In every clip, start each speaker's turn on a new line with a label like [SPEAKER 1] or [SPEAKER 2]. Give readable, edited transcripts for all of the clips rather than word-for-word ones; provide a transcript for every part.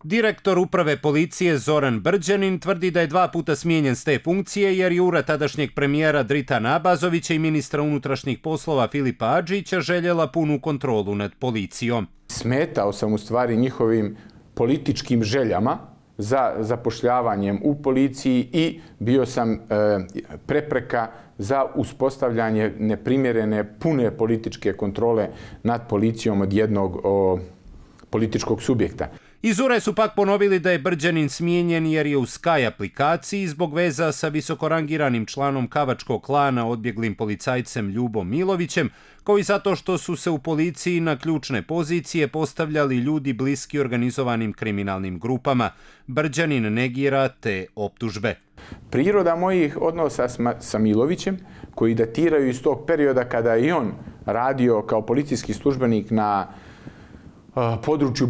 [SPEAKER 1] Direktor uprave policije Zoran Brđanin tvrdi da je 2 puta smijenjen s te funkcije jer jura tadašnjeg premijera Dritana Abazovića i ministra unutrašnjih poslova Filipa Adžića željela punu kontrolu nad policijom.
[SPEAKER 2] Smetao sam u stvari njihovim političkim željama za zapošljavanjem u policiji i bio sam prepreka za uspostavljanje neprimjerene pune političke kontrole nad policijom od jednog političkog subjekta.
[SPEAKER 1] Iz URE su pak ponovili da je Brđanin smijenjen jer je u Sky aplikaciji zbog veza sa visokorangiranim članom Kavačkog klana odbjeglim policajcem Ljubom Milovićem, kao i zato što su se u policiji na ključne pozicije postavljali ljudi bliski organizovanim kriminalnim grupama. Brđanin negira te optužbe.
[SPEAKER 2] Priroda mojih odnosa sa Milovićem, koji datiraju iz tog perioda kada je on radio kao policijski službenik na području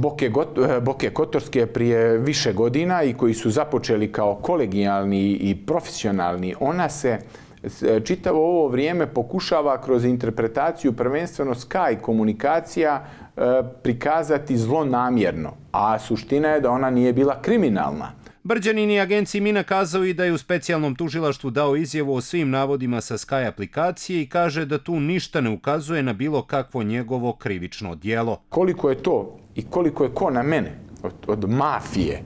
[SPEAKER 2] Boke Kotorske prije više godina i koji su započeli kao kolegijalni i profesionalni, ona se čitavo ovo vrijeme pokušava kroz interpretaciju prvenstveno Sky komunikacija prikazati zlonamjerno, a suština je da ona nije bila kriminalna.
[SPEAKER 1] Brđanin i agenciji MINA kazao i da je u specijalnom tužilaštvu dao izjavu o svim navodima sa Sky aplikacije i kaže da tu ništa ne ukazuje na bilo kakvo njegovo krivično djelo.
[SPEAKER 2] Koliko je to i koliko je ko na mene od mafije,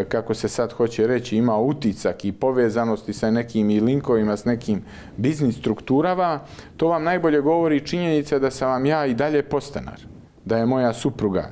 [SPEAKER 2] kako se sad hoće reći, ima uticak i povezanosti sa nekim i linkovima s nekim biznis strukturama, to vam najbolje govori činjenica da sam vam ja i dalje podstanar, da je moja supruga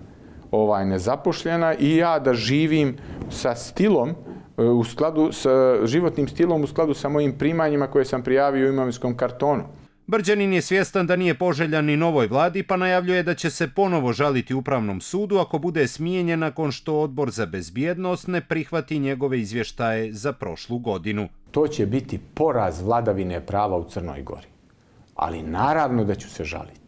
[SPEAKER 2] nezaposlena i ja da živim sa stilom, u skladu sa životnim stilom u skladu sa mojim primanjima koje sam prijavio u imovinskom kartonu.
[SPEAKER 1] Brđanin je svjestan da nije poželjan ni novoj vladi, pa najavljuje da će se ponovo žaliti Upravnom sudu ako bude smijenjen nakon što Odbor za bezbjednost ne prihvati njegove izvještaje za prošlu godinu.
[SPEAKER 2] To će biti poraz vladavine prava u Crnoj Gori, ali naravno da ću se žaliti.